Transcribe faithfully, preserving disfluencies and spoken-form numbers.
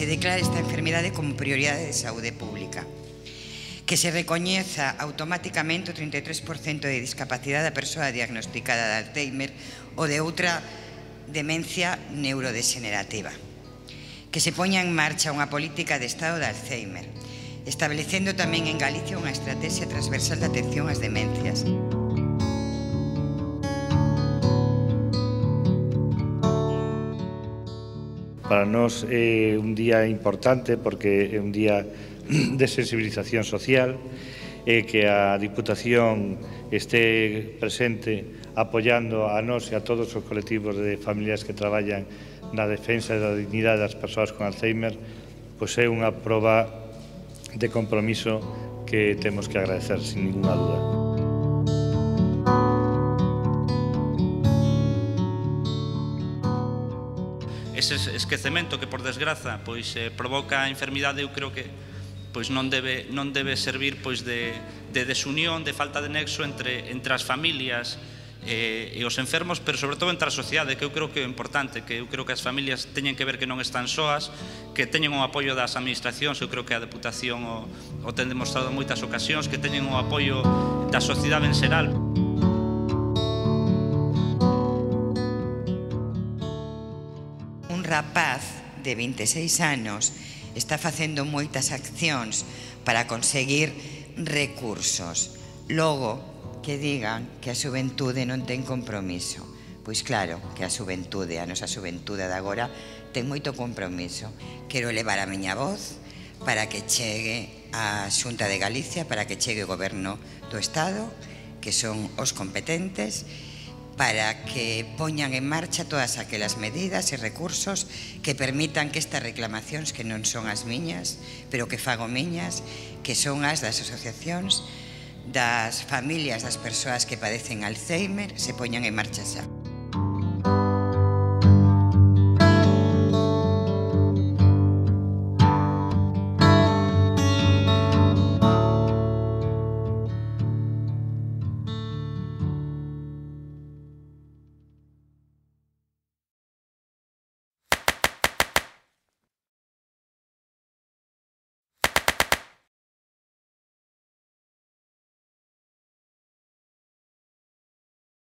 se declare esta enfermidade como prioridade de saúde pública, que se recoñeza automáticamente o trinta e tres por cento de discapacidade da persoa diagnosticada de Alzheimer ou de outra demencia neurodegenerativa, que se poña en marcha unha política de estado de Alzheimer, establecendo tamén en Galicia unha estrategia transversal de atención ás demencias. Para nós é un día importante porque é un día de sensibilización social e que a Diputación este presente apoiando a nós e a todos os colectivos de familias que traballan na defensa da dignidade das persoas con Alzheimer, pois é unha proba de compromiso que temos que agradecer sin ninguna dúda. Ese esquecemento que, por desgraza, pois eh, provoca a enfermidade, eu creo que pois non debe non debe servir pois de de desunión, de falta de nexo entre entre as familias eh, e os enfermos, pero sobre todo entre a sociedade, que eu creo que é importante, que eu creo que as familias teñen que ver que non están soas, que teñen o apoio das administracións, eu creo que a Deputación o, o ten demostrado en moitas ocasións, que teñen o apoio da sociedade en xeral. Un rapaz de vinte e seis anos está facendo moitas accións para conseguir recursos. Logo, que digan que a xuventude non ten compromiso. Pois claro que a xuventude, a nosa xuventude de agora, ten moito compromiso. Quero levar a miña voz para que chegue a Xunta de Galicia, para que chegue o Goberno do Estado, que son os competentes, para que poñan en marcha todas aquelas medidas e recursos que permitan que estas reclamacións, que non son as miñas, pero que fago miñas, que son as das asociacións, das familias das persoas que padecen Alzheimer, se poñan en marcha xa.